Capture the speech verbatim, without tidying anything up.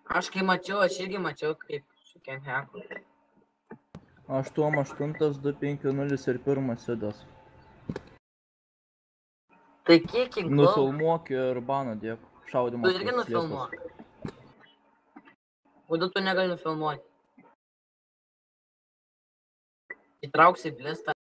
Aš kai mačiau, aš irgi mačiau, kaip su Kenheku. aštuoni aštuoni du penki nulis ir pirmas sidas. Tai kiek kinklau? Nufilmuok ir baną dėk. Šaudimas. Tu irgi nufilmuok. Kodėl tu negali nufilmuoti? Įtrauksi blistą.